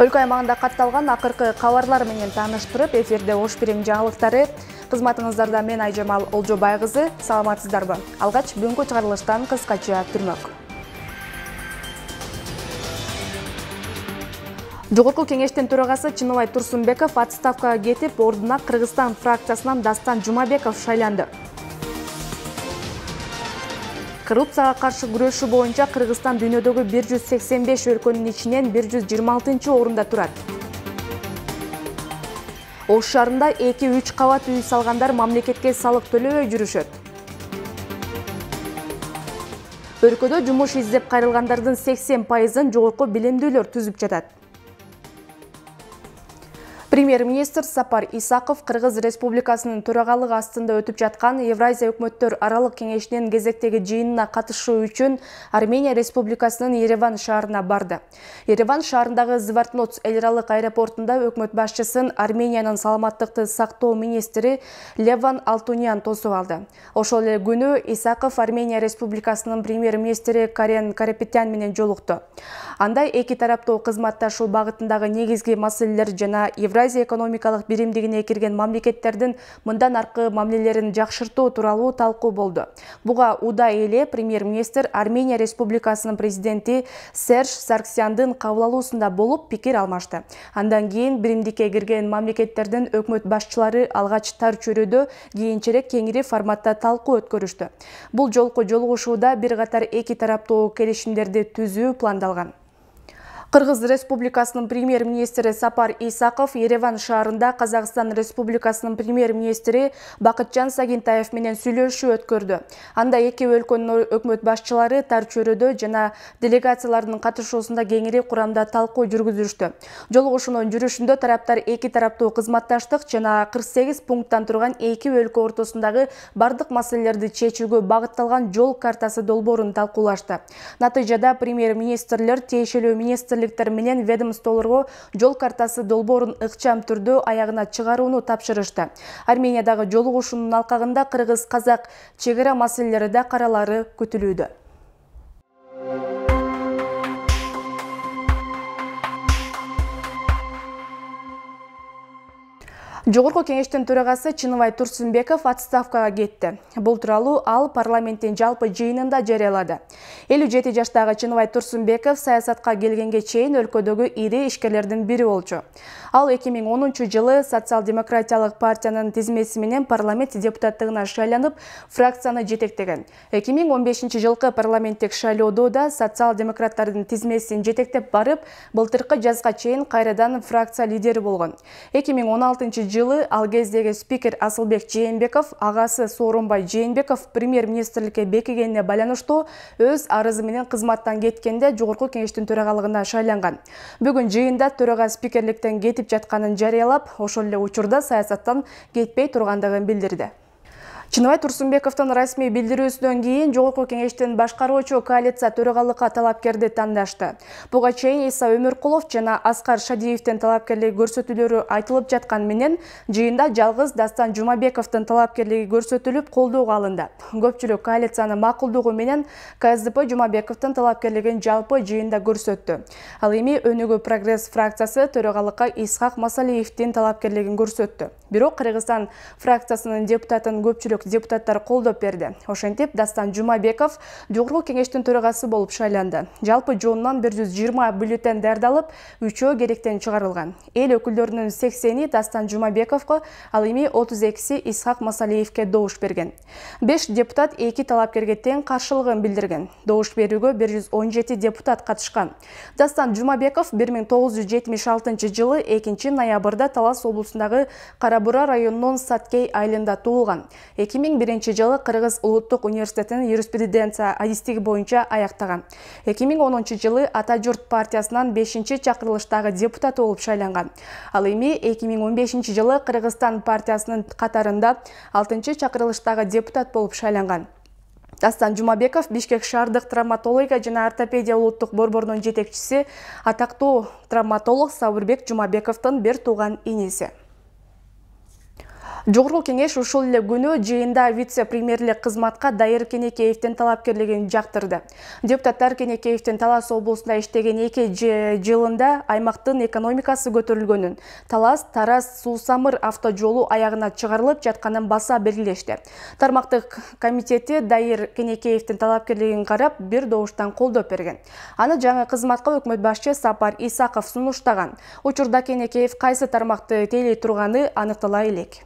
Өлкө аймагында катталган акыркы кабарлар менен тааныштырып, эфирде Ош Бирең жаңылыктары. Кызматыңыздарда мен Айжамал Олжобай кызы. Саламатсыздарбы? Алгач бүгүнкү чыгарылыштан кыскача түрмөк. Жогорку кеңештин төрагасы Чыныбай Турсунбеков отставкага кетип, ордуна Кыргызстан фракциясынан Дастан Жумабеков шайланды. Коррупцияга каршы күрөшүү боюнча Кыргызстан дүйнөдөгү 185 өлкөнүн ичинен 126-орунда турат. Ош шаарында 2-3 кабат үй салгандар мамлекетке салык төлөбөй жүрүшөт. Өлкөдө жумуш издеп кайрылгандардын 80%-ын жогорку билимдүүлөр түзүп жатат. Премьер-министр Сапар Исаков Кыргыз Республикасынын төрагалыгы астында өтүп жаткан Евразия өкмөттөр аралык кеңешинин кезектеги жыйынына катышуу үчүн Армения Республикасынын Ереван шаарына барды. Ереван шаарындагы Звартноц эл аралык аэропортунда өкмөт башчысын Армениянын саламаттыкты сактоо министри Леван Алтунян тосуп алды. Ошол эле күнү Исаков Армения Республикасынын премьер-министри Карен Карапетян менен жолукту. Анда эки тараптуу кызматташуу багытындагы негизги маселелер жана Евразия экономикалык биримдигине кирген мамлекеттердин мындан аркы мамилелерин жакшыртуу тууралуу талкуу болду. Буга удай эле премьер-министр Армения Республикасынын президенти Серж Сарксяндын кабыл алуусунда болуп пикир алмашты. Андан кийин биримдикке кирген мамлекеттердин өкмөт башчылары алгач тар чөйрөдө, кийинчерээк кеңири форматта талкуу өткөрүштү. Бул жолку жолугушууда бир катар эки тараптуу келишимдерди түзүү пландалган. Кыргыз Республикасынын премьер-министри Сапар Исаков Ереван шаарында Казакстан Республикасынын премьер-министри Бакытжан Сагинтаев менен сүйлөшүү өткөрдү. Анда эки өлкөнүн өкмөт башчылары тар чөйрөдө жана делегациялардын катышуусунда кеңири курамда талкуу жүргүзүштү. Жолугушуунун жүрүшүндө тараптар эки тараптуу кызматташтык жана 48 пункттан турган эки өлкө ортосундагы бардык маселелерди чечүүгө багытталган жол картасы долбоорун талкуулашты. Натыйжада премьер-министрлер тиешелүү министрликтер менен ведомстволорго жол картасы долбоорун ыкчам түрдө аягына чыгарууну тапшырышты. Армениядагы жолугушуунун алкагында кыргыз-казак чек ара маселелери да каралары күтүлүүдө. Жогорку кеңештин төрагасы Чыныбай Турсунбеков отставкага кетти. Бул тууралуу ал парламенттин жалпы жыйынында жарыялады. 57 жаштагы Чыныбай Турсунбеков саясатка келгенге чейин өлкөдөгү ири ишкерлердин бири болчу. Ал 2010-жылы социал-демократиялык партиянын тизмеси менен парламент депутаттыгына шайланып, фракцияны жетектеген. 2015-жылкы парламенттик шайлоодо да социал-демократтардын тизмесин жетектеп барып, былтыркы жазга чейин кайрадан фракция лидери болгон. 2016-жылы ал кездеги спикер Асылбек Жээнбеков, агасы Сооронбай Жээнбеков премьер-министрликке бекигенине байланыштуу өз арызы менен кызматтан кеткенде жогорку кеңештин төрагалыгына шайланган. Бүгүн жыйында төрага спикерликтен кетип жатканын жарыялап, ошол эле учурда саясаттан кетпей тургандыгын билдирди. Чыныбай Турсунбековдун расмий билдирүүсүнөн кийин жогорку кеңештин башкаруучу коалиция төрагалыкка талапкерди тандашты. Буга чейин Иса Өмүркулов жана Аскар Шадиевдин талапкерлиги көрсөтүүлөрү айтылып жаткан менен жыйында жалгыз Дастан Жумабековдун талапкерлиги көрсөтүлүп колдоого алынды. Көпчүлүк коалициянын макулдугу менен КСДП Жумабековдун талапкерлигин жалпы жыйында көрсөттү. Ал эми Өнүгүү прогресс фракциясы төрагалыкка Исхак Масалиевдин талапкерлигин көрсөттү. Бирок Кыргызстан фракциясынын депутатын көпчүлүк депутаттар колдоп берди. Ошентип Дастан Жумабеков жогорку кеңештин төрагасы болуп шайланды. Жалпы жоонунан 120 бюллетен даярдалып, 3-өө керектен чыгарылган. Эл өкүлдөрүнүн 80-и Дастан Жумабековго, ал эми 32-си Исхак Масалиевке добуш берген. 5 депутат 2 талапкерге тең каршылыгын билдирген. Добуш берүүгө 117 депутат катышкан. Дастан Жумабеков 1976-жылы 2-ноябрда Талас облусундагы Кара-Бура районунун Саткей айылында туулган. 2001-жылы Кыргыз улуттук университетинин юриспруденция адистиги боюнча аяктаган. 2010-жылы Ата журт партиясынан 5-чакырылыштагы депутат болуп шайланган. Ал эми 2015-жылы Кыргызстан партиясынын катарында 6-чакырылыштагы депутат болуп шайланган. Дастан Жумабеков Бишкек шаардык травматология жана ортопедия улуттук борборунун жетекчиси, атактуу травматолог Сабырбек Жумабековдун бир тууган иниси. Жогорку кеңеш ушул эле күнү жыйында вице-премьерлик кызматка Дайыр Кенекеевдин талапкерлигин жактырды. Депутаттар Кенекеевдин Талас облусунда иштеген 2 жылында аймактын экономикасы көтөрүлгөнүн, Талас Тараз Суу-Самыр автожолу аягына чыгарылып жатканын баса белгилешти. Тармактык комитети Дайыр Кенекеевдин талапкерлигин карап, бир добуштан колдоп берген. Аны жаңы кызматка өкмөт башчы Сапар Исаков сунуштаган. Учурда Кенекеев кайсы тармакты тейлей турганы аныктала элек.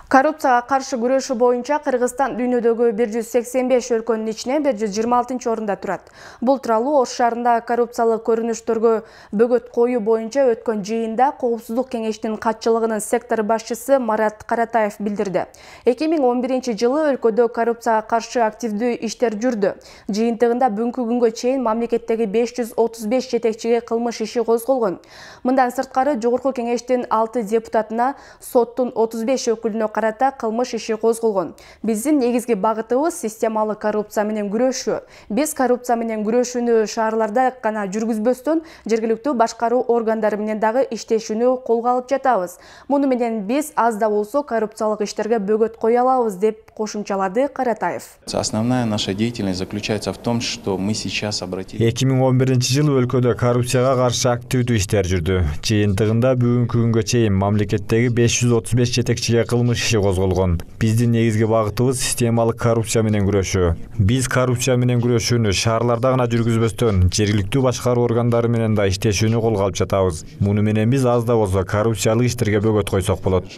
Коррупцияга каршы күрөшүү боюнча Кыргызстан дүйнөдөгү 185 өлкөнүн ичинен 126-орунда турат. Бул тууралуу Ош шаарында коррупциялык көрүнүштөргө бөгөт коюу боюнча өткөн жыйында Коопсуздук кеңештин катчылыгынын сектор башчысы Марат Каратаев билдирди. 2011-жылы өлкөдө коррупцияга каршы активдүү иштер жүрдү. Жыйынтыгында бүгүнкү күнгө чейин мамлекеттеги 535 жетекчиге кылмыш иши козголгон. Мындан сырткары Жогорку кеңештин 6 депутатына, соттун 35 өкүлүнө карата кылмыш иши козголгон. Биздин негизги багытыбыз системалык коррупция менен күрөшүү. Биз коррупция менен күрөшүүнү шаарларда гана жүргүзбөстөн, жергиликтүү башкаруу органдары менен дагы иштешүүнү колго алып жатабыз. Муну менен биз аз да болсо коррупциялык иштерге бөгөт кое алабыз, деп кошумчалады Каратаев. Основная наша деятельность заключается в том, что мы сейчас обратились. 2011-жылы өлкөдө коррупцияга каршы активдүү иштер жүрдү. Жыйынтыгында бүгүнкү күнгө чейин мамлекеттеги 535 жетекчиге кылмыш иши козголгон. Биздин негизги багытыбыз системалык коррупция менен күрөшүү. Биз коррупция менен күрөшүүнү шаарларда гана жүргүзбөстөн, жергиликтүү башкаруу органдары менен да иштешүүнү колго алып жатабыз. Муну менен биз аз да болсо коррупциялык иштерге бөгөт койсок болот.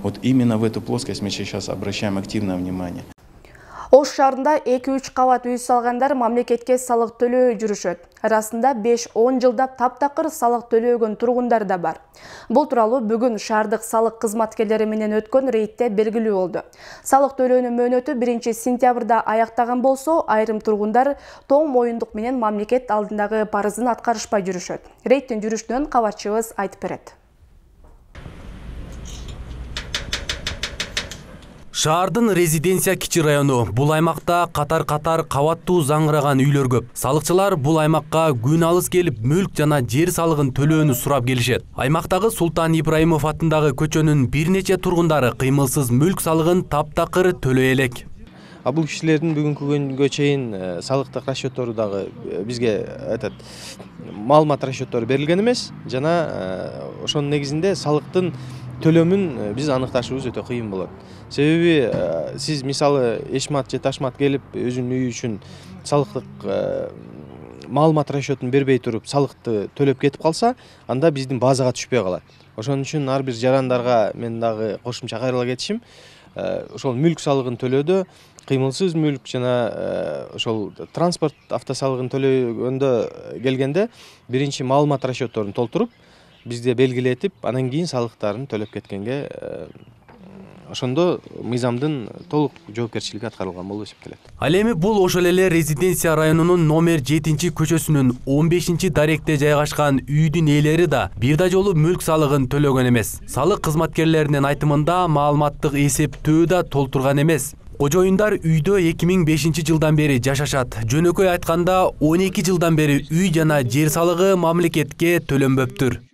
Вот именно в эту плоскость мы сейчас обращаем активное внимание. Ош шаарында 2-3 кабат үй салгандар мамлекетке салык төлөө жүрүшөт. Арасында 5-10 жылдап таптакыр салык төлөгөн тургундар да бар. Бул тууралуу бүгүн шаардык салык кызматкерлери менен өткөн рейдте белгилүү болду. Салык төлөөнүн мөөнөтү 1-сентябрда аяктаган болсо, айрым тургундар тоң моюндук менен мамлекет алдындагы парызын аткарышпай жүрүшөт. Рейдтин жүрүшүнөн кабарчыбыз айтып берет. Шаардын резиденция кичи району. Бул аймакта катар-катар кабаттуу заңыраган үйлөр көп. Салыкчылар бул аймакка күн алыс келип, мүлк жана жер салыгын төлөөнү сурап келишет. Аймактагы Султан Ибраимов атындагы көчөнүн бир нече тургундары кыймылсыз мүлк салыгын таптакыр төлөй элек. Бул кишилердин бүгүнкү күнгө чейин салыктык расчеттору дагы бизге маалымат расчеттору берилген эмес. Жана ошонун негизинде салыктын төлөмүн биз аныкташыбыз өтө кыйын болот. Себеби сиз мисалы эшмат же ташмат келип өзүнүн үйү үчүн салыктык маалымат расчетун бербей туруп салыкты төлөп кетип калса, анда биздин базага түшпөй калат. Ошон үчүн ар бир жарандарга мен дагы кошумча кайрыла кетишим. Ошол мүлк салыгын төлөөдө, кыймылсыз мүлк жана ошол транспорт автосалыгын төлөгөндө келгенде биринчи маалымат расчетторун толтуруп, бизде белгилетип, анан кийин салыктарын төлөп кеткенге ошондо мыйзамдын толук жоопкерчилиги аткарылган болуп эсептелет. Ал эми бул ошол эле резиденция районунун номер 7-көчөсүнүн 15-даректе жайгашкан үйдүн ээлери да бир да жолу мүлк салыгын төлөгөн эмес. Салык кызматкерлеринин айтымында маалыматтык эсептөө да толтурган эмес. Кожоюндар үйдө 2005 жылдан бери жашашат. Жөнөкөй айтканда 12 жылдан бери үй жана жер салыгы мамлекетке төлөнбөптүр.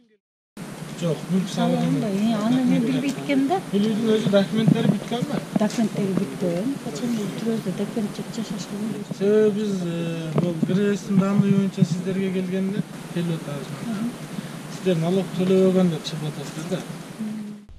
Жоқ, мүлк салыгында аны мен билбейт экенмин да. Бул үйдүн өзү документтери бүткөнбү? Документтери бүткөн. Качан түрөздө документ жашашкан. Себеби биз бул кыргыздын данный боюнча сиздерге келгенде келип атабыз. Сиздер налог төлөбөгөн деп чыгып атасыздар да.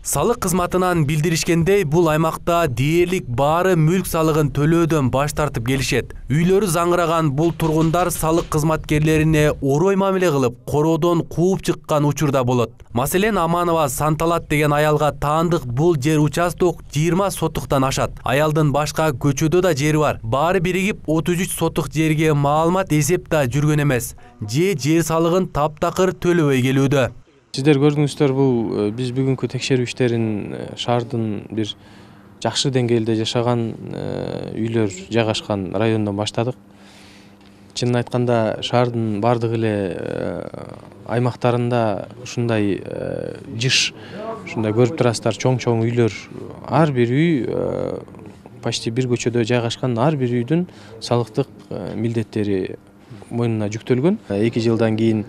Салык кызматынан билдиришкендей, бул аймакта дээрлик баары мүлк салыгын төлөөдөн баш тартып келишет. Үйлөрү заңыраган бул тургундар салык кызматкерлерине орой мамиле кылып, короодон кууп чыккан учур да болот. Маселен, Аманова Санталат деген аялга таандык бул жер участок 20 сотуктан ашат. Аялдын башка көчөдө да жери бар. Баары биригип 33 сотук жерге маалымат эсеп да жүргөн эмес. Жер салыгын таптакыр төлөбөй келүүдө. Сиздер көрдүңүздөр, бул биз бүгүнкү текшерүү иштерин шаардын бир жакшы деңгээлде жашаган үйлөр жайгашкан райондон баштадык. Чынын айтканда, шаардын бардык эле аймактарында ушундай жыш, ушундай көрүп турасыздар, чоң үйлөр, ар бир үй почти бир көчөдө жайгашкан ар бир үйдүн салыктык милдеттери мойнуна жүктөлгөн. 2 жылдан кийин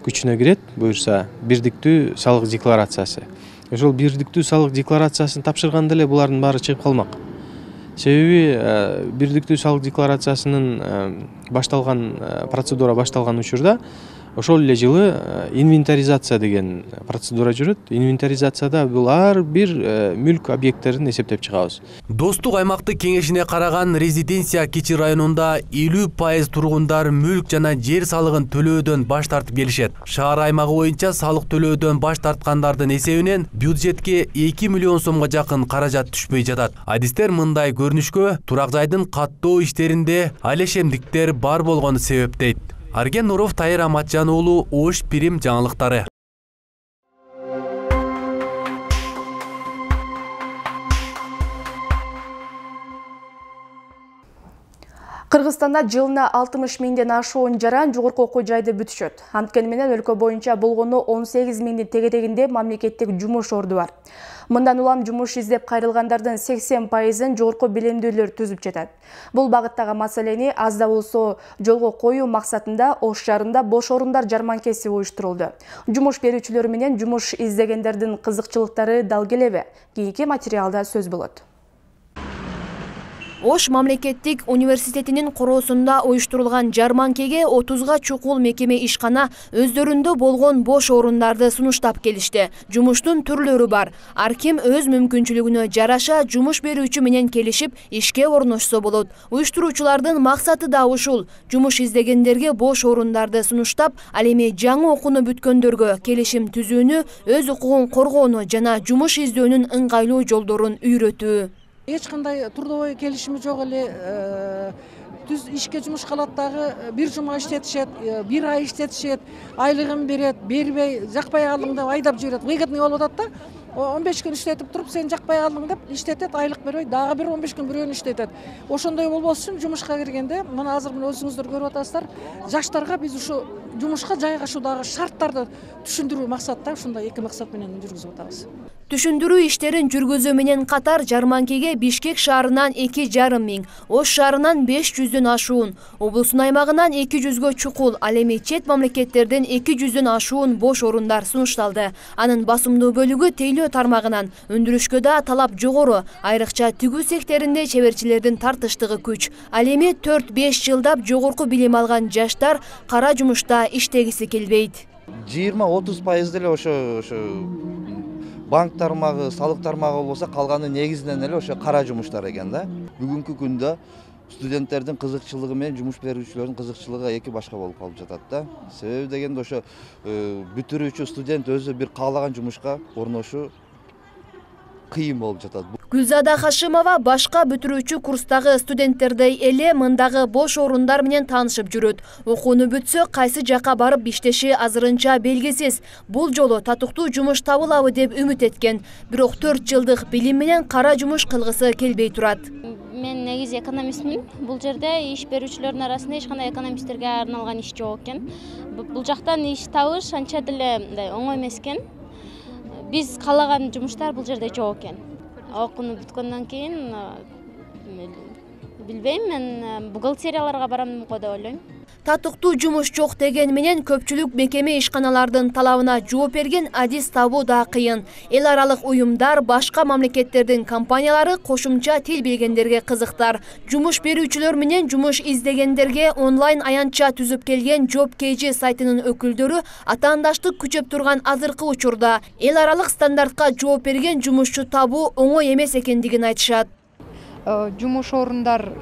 күчүнө кирет, буюрса бирдиктүү салык декларациясы. Ошол бирдиктүү салык декларациясын тапшырганда эле булардын баары чыгып калмак. Себеби бирдиктүү салык декларациясынын процедура башталган учурда ошол эле жылы инвентаризация деген процедура жүрөт. Инвентаризацияда бул ар бир мүлк объекттерин эсептеп чыгабыз. Достук аймактык кеңешине караган резиденция Кичи районунда 50% тургундар мүлк жана жер салыгын төлөөдөн баш тартып келишет. Шаар аймагы боюнча салык төлөөдөн баш тарткандардын эсебинен бюджетке 2 миллион сомго жакын каражат түшпөй жатат. Адистер мындай көрүнүшкө турак жайдын каттоо иштеринде алешемдиктер бар болгону себептейт. Арген Нуров, Тайыр Аматжан уулу, Ош Пирим жаңылыктары. Кыргызстанда жылына 60 миңден ашуун жаран жогорку окуу жайды бүтүшөт. Анткени менен өлкө боюнча болгону 18 миңдин тегерегинде мамлекеттик жумуш орду бар. Мындан улам жумуш издеп кайрылгандардын 80%-ын жогорку билимдүүлөр түзүп жатат. Бул багыттагы маселени аз да болсо жолго коюу максатында Ош шаарында бош орундар жарманкеси уюштурулду. Жумуш берүүчүлөр менен жумуш издегендердин кызыкчылыктары дал келеби? Кийинки материалда сөз болот. Ош мамлекеттик университетинин короосунда уюштурулган жарманкеге 30га чукул мекеме ишкана өздөрүндө болгон бош орундарды сунуштап келишти. Жумуштун түрлөрү бар. Ар ким өз мүмкүнчүлүгүнө жараша жумуш берүүчү менен келишип ишке орношсо болот. Уюштуруучулардын максаты да ушул. Жумуш издегендерге бош орундарды сунуштап, ал эми жаңы окууну бүткөндөргө келишим түзүүнү, өз укугун коргоону жана жумуш издөөнүн ыңгайлуу жолдорун үйрөтүү. Эч кандай трудовой келишими жок эле, түз ишке жумушка алат дагы, бир жума иштетишет, бир ай иштетишет, айлыгын берет, бербей, жакпай калдың деп айдап жиберет. Выгодный болуп атат да. 15 күн иштетип туруп, сен жакпай калдың деп иштетет, айлык бербей, дагы бир 15 күн бирөөнү иштетет. Ошондой болбос үчүн жумушка киргенде, мына азыр өзүңүздөр көрүп атасыздар, жаштарга биз ушу жумушка жайгашуудагы шарттарды түшүндүрүү максатта ушундай эки максат менен жүргүзүп атабыз. Түшүндүрүү иштерин жүргүзүү менен катар жарманкеге Бишкек шаарынан 2,5 миң, Ош шаарынан 500дөн ашуун, облустун аймагынан 200гө чукул, ал эми чет мамлекеттерден 200дөн ашуун бош орундар сунушталды. Анын басымдуу бөлүгү тейлөө тармагынан, өндүрүшкө да талап жогору, айрыкча тигүү секторунда чеберчилердин тартыштыгы күч. Ал эми 4-5 жылдап жогорку билим алган жаштар кара жумушта иштегиси келбейт. 20-30% деле ошо банк тармагы, салык тармагы болсо калганы негизинен эле ошо кара жумуштар экен да. Бүгүнкү күндө студенттердин кызыкчылыгы менен жумуш берүүчүлөрдүн кызыкчылыгы эки башка болуп калып жатат да. Себеби дегенде ошо бүтүрүүчү студент өзү бир каалаган жумушка орношу кыйын болуп жатат. Гүлзада Хашимова башка бүтүрүүчү курстагы студенттердей эле мындагы бош орундар менен таанышып жүрөт. Окууну бүтсө, кайсы жака барып иштеши азырынча белгисиз. Бул жолу татыктуу жумуш табылабы деп үмүт эткен. Бирок 4 жылдык билим менен кара жумуш кылгысы келбей турат. Мен негизи экономистмин. Бул жерде иш берүүчүлөрдүн арасында эч кандай экономисттерге арналган иш жок экен. Бул жактан иш табыш анча деле оңой эмес экен. Биз каалаган жумуштар бул жерде жок экен. Окууну бүткөндөн кийин билбейм, мен бухгалтерияларга барам го деп ойлойм. Татыктуу жумуш жок деген менен көпчүлүк мекеме ишканалардын талабына жооп берген адис табуу да кыйын. Эл аралык уюмдар, башка мамлекеттердин компаниялары кошумча тил билгендерге кызыктар. Жумуш берүүчүлөр менен жумуш издегендерге онлайн аянтча түзүп келген Job KG сайтынын өкүлдөрү атаандаштык күчөп турган азыркы учурда эл аралык стандартка жооп берген жумушчу табуу оңой эмес экендигин айтышат. Жумуш орундар,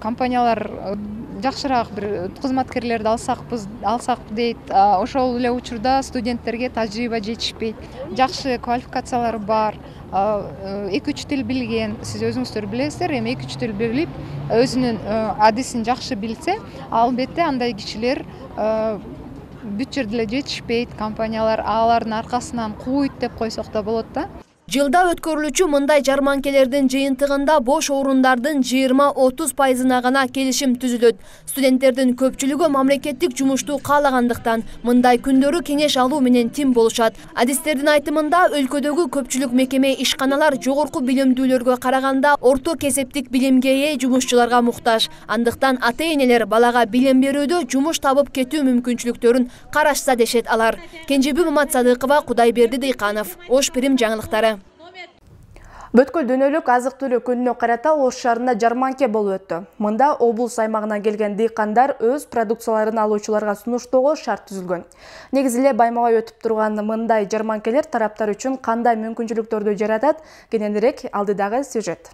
компаниялар жакшыраак бир кызматкерлерди алсак дейт. Ошол эле учурда студенттерге тажрыйба жетишпейт. Жакшы квалификациялары бар, 2-3 тил билген, сиз өзүңүздөр билесиздер, эми 2-3 тил билип, өзүнүн адисин жакшы билсе, албетте андай кишилер бүт жерде эле жетишпейт, компаниялар алардын аркасынан кууйт деп койсок да болот да. Жылда өткөрүлүүчү мындай жарманкелердин жыйынтыгында бош орундардын 20–30% гана келишим түзүлөт. Студенттердин көпчүлүгү мамлекеттик жумушту каалагандыктан мындай күндөрү кеңеш алуу менен тим болушат. Адистердин айтымында өлкөдөгү көпчүлүк мекеме ишканалар жогорку билимдүүлөргө караганда орто кесептик билимге ээ жумушчуларга муктаж. Андыктан ата-энелер балага билим берүүдө жумуш табып кетүү мүмкүнчүлүктөрүн карашса дешет алар. Кенжебүй Маматсадыкова, Кудайберди Дыйканов, Ош Пирим жаңылыктары. Бүткүл дүйнөлүк азык-түлүк күнүнө карата Ош шаарында жарманке болуп өттү. Мында облус аймагынан келген дыйкандар өз продукцияларын алуучуларга сунуштоого шарт түзүлгөн. Негизи эле баймабай өтүп турган мындай жарманкелер тараптар үчүн кандай мүмкүнчүлүктөрдү жаратат? Кененирээк алдыдагы сюжет.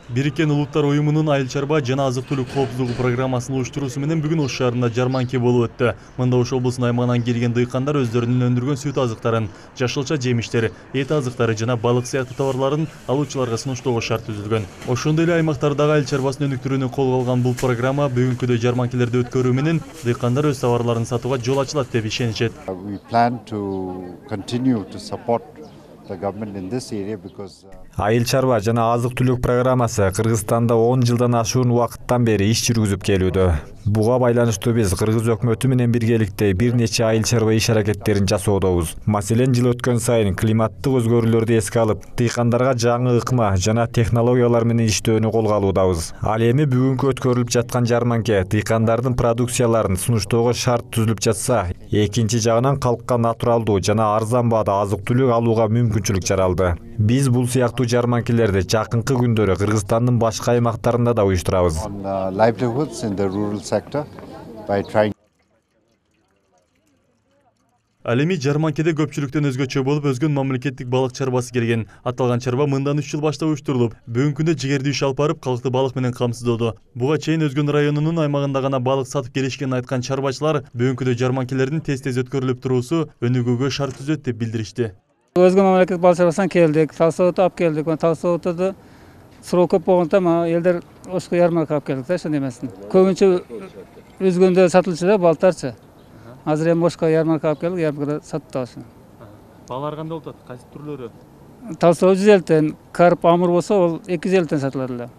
Бириккен Улуттар уюмунун айыл чарба жана азык-түлүк коопсуздугу программасынын уюштуруусу менен бүгүн Ош шаарында жарманке болуп өттү. Мында Ош облусунун аймагынан келген дыйкандар өздөрүнүн өндүргөн сүт азыктарын, жашылча жемиштер, эт азыктары жана балык сыяктуу товарларын алуучуларга сунуштоого шарт түзүлгөн. Ошондой эле аймактардагы айыл чарбасын өнүктүрүүнү колго алган бул программа бүгүнкүдөй жарманкелерди өткөрүү менен дыйкандар өз товарларын сатууга жол ачылат деп ишенишет. Айыл чарба жана азык-түлүк программасы Кыргызстанда 10 жылдан ашуун убакыттан бери иш жүргүзүп келүүдө. Буга байланыштуу биз Кыргыз өкмөтү менен биргеликте бир нече айыл чарба иш аракеттерин жасоодобуз. Маселен, жыл өткөн сайын климаттык өзгөрүүлөрдү эске алып, дыйкандарга жаңы ыкма жана технологиялар менен иштөөнү колго алуудабыз. Ал эми бүгүнкү өткөрүлүп жаткан жарманке дыйкандардын продукцияларын сунуштоого шарт түзүлүп жатса, экинчи жагынан калкка натуралдуу жана арзан баада азык-түлүк алууга мүмкүнчүлүк жаралды. Биз бул сыяктуу жарманкелерди жакынкы күндөрү Кыргызстандын башка аймактарында да уюштурабыз. Ал эми жарманкеде көпчүлүктөн өзгөчө болуп өзгөн мамлекеттик балык чарбасы келген. Аталган чарба мындан 3 жыл баштап уюштурулуп, бүгүнкү күндө жигерди иш алып барып, калкты балык менен камсыздоодо. Буга чейин өзгөн районунун аймагында гана балык сатып келишкенин айткан чарбачылар бүгүнкүдөй жарманкелердин тез-тез өткөрүлүп туруусу өнүгүүгө шарт түзөт деп билдиришти. Өзгөн мамлекеттик балык чарбасынан келдик, Талсооту алып келдик. Талсоотуда суроо көп болгондон элдер Ошко ярмарка алып келдик да, ошондой эмесин. Көбүнчө өзгөндө сатылчу да балыктарчы. Азыр эми Ошко ярмарка алып келдик, ярмаркада сатып атабыз. Баалар кандай болот? Кайсы түрлөрү? Талсоо 150тен, карп амур болсо ал 250тен сатылат эле.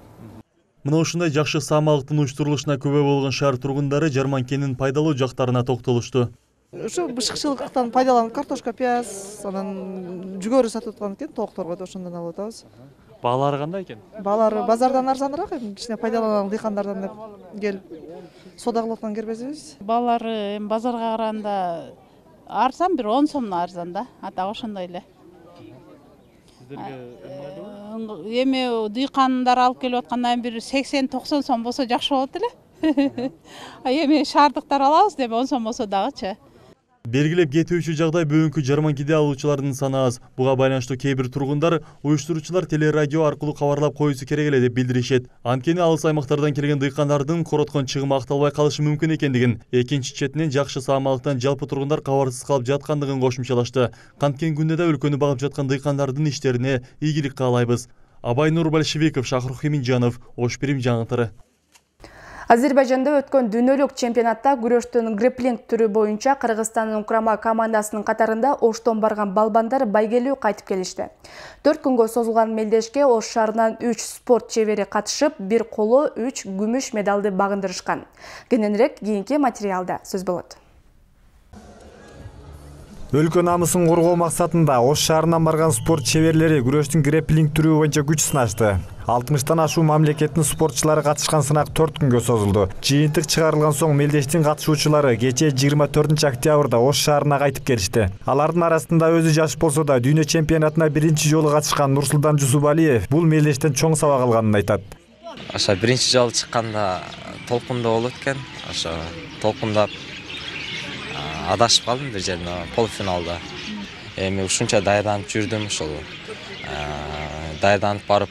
Мына ушундай жакшы саамалыктын уюштурулушуна күбө болгон шаар тургундары жарманкенин пайдалуу жактарына токтолушту. Ошо бышыкчылыктан пайдаланып картошка, пияз, анан жүгөрү сатып аткан экен, тоокторго да ошондон алып атабыз. Баалары кандай экен? Баалары базардан арзаныраак, кичине пайдаланалы дыйкандардан деп келип соода кылып аткан кербезибиз. Баалары базарга караганда арзан, бир 10 сомдон арзан да, атак ошондой эле. Сиздерге эми дыйкандар алып келип аткандан бир 80-90 сом болсо жакшы болот эле. Эми шаардыктар алабыз деп 10 сом болсо дагычы. Белгилеп кетүүчү жагдай бүгүнкү жарманкеде алуучулардын саны аз. Буга байланыштуу кээ бир тургундар уюштуруучулар телерадио аркылуу кабарлап коюусу керек эле деп билдиришет. Анткени алыс аймактардан келген дыйкандардын короткон чыгымы акталбай калышы мүмкүн экендигин, экинчи четинен жакшы саамалыктан жалпы тургундар кабарсыз калып жаткандыгын кошумчалашты. Канткен күндө да өлкөнү багып жаткан дыйкандардын иштерине ийгилик каалайбыз. Абай Нурбалишевиков, Шахрух Эминжанов, Ош Пирим жаңылыктары. Азербайжанда өткөн дүйнөлүк чемпионатта күрөштүн грэпплинг түрү боюнча Кыргызстандын курама командасынын катарында Оштон барган балбандар байгелүү кайтып келишти. 4 күнгө созулган мелдешке Ош шаарынан 3 спорт чебери катышып, бир коло 3 күмүш медалды багындырышкан. Кененирээк кийинки материалда сөз болот. Өлкө намысын коргоо максатында Ош шаарынан барган спорт чеберлери күрөштүн грэпплинг түрү боюнча күч сынашты. 60тан ашуу мамлекеттин спортчулары катышкан сынак 4 күнгө созулду. Жыйынтык чыгарылган соң мелдештин катышуучулары кечээ 24-октябрда Ош шаарына кайтып келишти. Алардын арасында өзү жаш болсо да дүйнө чемпионатына биринчи жолу катышкан Нурсултан Жусупалиев бул мелдештен чоң сабак алганын айтат. Ошо биринчи жолу чыкканда толкунда болот экен. Ошо толкундап адашып калдым бир жерде полуфиналда. Эми ушунча даярданып жүрдүм, ошол даярданып барып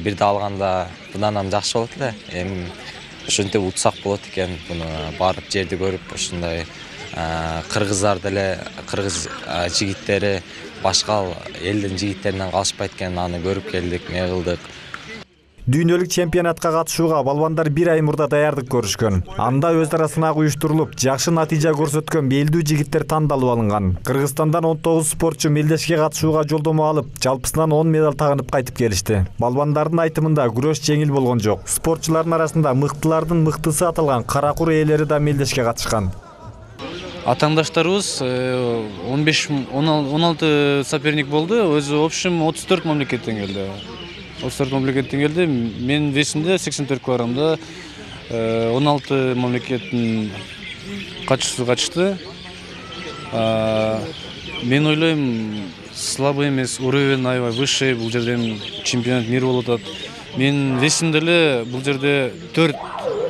бирде алганда мындан жакшы болот эле. Эми ушинтип утсак болот экен, буну барып жерди көрүп, ушундай кыргыздар деле, кыргыз жигиттери башка элдин жигиттеринен калышпайт экен, аны көрүп келдик, эмне кылдык. Дүйнөлүк чемпионатка катышууга балбандар 1 ай мурда даярдык көрүшкөн. Анда өз ара сынак уюштурулуп, жакшы натыйжа көрсөткөн белдүү жигиттер тандалып алынган. Кыргызстандан 19 спортчу мелдешке катышууга жолдомо алып, жалпысынан 10 медаль тагынып кайтып келишти. Балбандардын айтымында күрөш жеңил болгон жок. Спортчулардын арасында мыктылардын мыктысы аталган каракур ээлери да мелдешке катышкан. Атаңдаштарыбыз 15-16 соперник болду. Өзү общем 34 мамлекеттен келди. 34 мамлекеттен келди. Мен весимде 84 килограммда 16 мамлекеттин катчысы катышты. Мен ойлойм, слабый эмес, уровень аябай высший, бул жерден чемпионат мира болуп атат. Мен весимде эле бул жерде 4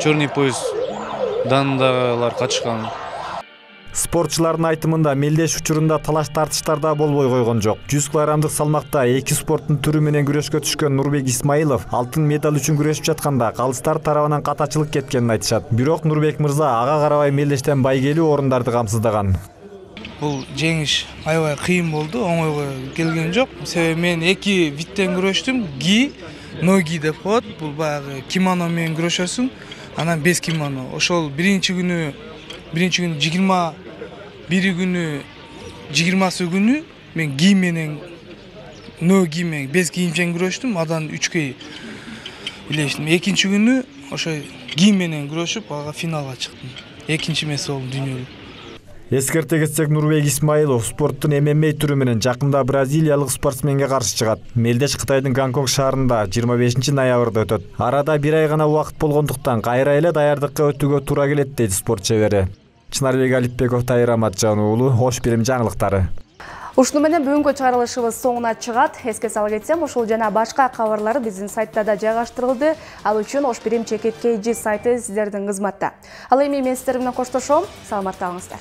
черный пояс дандагылар катышкан. Спортчулардын айтымында мелдеш учурунда талаш тартыштар да болбой койгон жок. 100 килограммдык салмакта эки спорттун түрү менен күрөшкө түшкөн Нурбек Исмаилов алтын медаль үчүн күрөшүп жатканда калыстар тарабынан катачылык кеткенин айтышат. Бирок Нурбек мырза ага карабай мелдештен байгелүү орундарды камсыздаган. Бул жеңиш аябай кыйын болду, оңойго келген жок. Себеби мен эки видтен күрөштүм. Ги, ноги деп коет. Бул баягы кимоно менен күрөшөсүң, анан без кимоно. Ошол биринчи күнү 20 бiri günü 20 günü men giymenen no giymen bez kiyimчен күрөштүм, адан 3 илештим. Экинчи күнү ошо гийменен күрөшүп, ага финалга чыктым. Экинчи эмес болдум дүйнөлүк. Эскерте кетсек, Нурбек Исмаилов спорттун ММА түрү менен жакында бразилиялык спортсменге каршы чыгат. Мелдеш Кытайдын Гонконг шаарында 25 ноябрда өтөт. Арада 1 ай гана убакыт болгондуктан кайра эле даярдыкка өтүүгө туура келет дейт спорт чебери. Чынарбек Алипбеков, Тайыр Аматжан уулу, Ош Бирим жаңылыктары. Ушуну менен бүгүнкү чыгарылышыбыз соңуна чыгат. Эске сала кетсем, ушул жана башка кабарлар биздин сайтта да жайгаштырылды. Ал үчүн Ош Бирим ЧКТ сайты сиздердин кызматта. Ал эми мен сиздер менен коштошом. Саламатта калыңыздар.